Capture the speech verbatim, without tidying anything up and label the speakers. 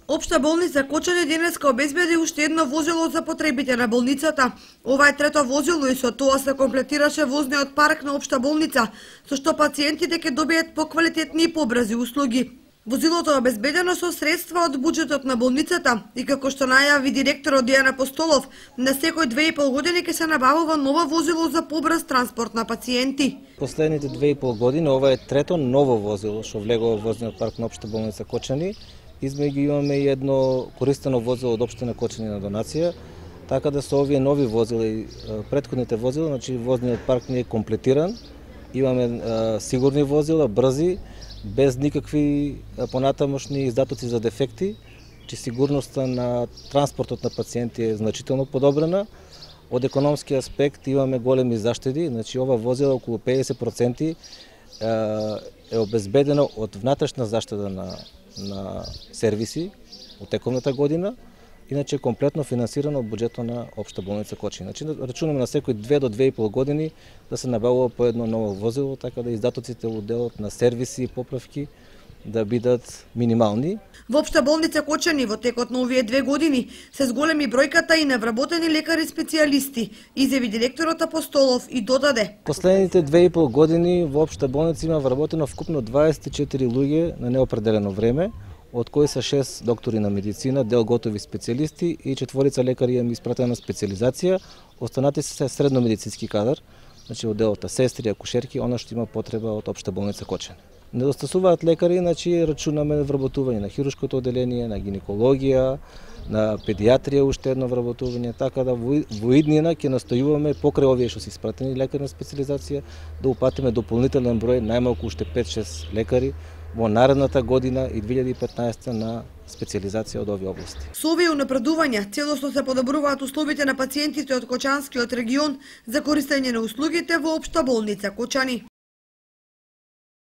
Speaker 1: Општа болница Кочани денеска обезбеди уште едно возило за потребите на болницата. Ова е трето возило и со тоа се комплетираше возниот парк на општа болница, со што пациентите ќе добијат поквалитетни и побрзи услуги. Возилото е обезбедено со средства од буџетот на болницата и како што најави директорот Дијан Апостолов, на секој две и пол години ќе се набавува ново возило за побрз транспорт на пациенти.
Speaker 2: Последните две и пол години ова е трето ново возило што влегува во возниот парк на општа болница Кочани. Измеѓу имаме и едно користено возило од општина Кочани на донација, така да со овие нови возила и претходните возила, значи возниот парк не е комплетиран. Имаме а, сигурни возила, брзи, без никакви понатамошни издатоци за дефекти, че сигурноста на транспортот на пациенти е значително подобрена. Од економски аспект имаме големи заштеди, значи ова возила околу педесет проценти е обезбедено од внатрешна заштеда на на сервиси од тековната година, иначе комплетно финансирано од буџетот на општа болница Кочани. Значи рачунаме на секој две до две и пол години да се набавува по едно ново возило, така да издатоците во делот на сервиси и поправки да бидат минимални.
Speaker 1: Во општа болница Кочани во текот на овие две години се зголеми бројката и на вработени лекари специјалисти, изјави директорот Апостолов и додаде.
Speaker 2: Последните две и пол години во општа болница има вработено вкупно дваесет и четири луѓе на неопределено време, од кои се шест доктори на медицина, дел готови специјалисти и четворица лекари имаме испратена специјализација. Останати се средно медицински кадар, значи од делот сестри, акушерки, она што има потреба од општа болница Кочани. Недостасуваат лекари, значи рачунаме вработување на хируршкото одделение, на гинекологија, на педиатрија уште едно вработување, така да во иднина ќе настојуваме покрај овие што се испратени лекари на специјализација да упатиме дополнителен број, најмалку уште пет-шест лекари во наредната година и две илјади и петнаесета на специјализација од овие области.
Speaker 1: Со овие унапредувања целосно се подобруваат условите на пациентите од Кочанскиот регион за користење на услугите во општа болница Кочани.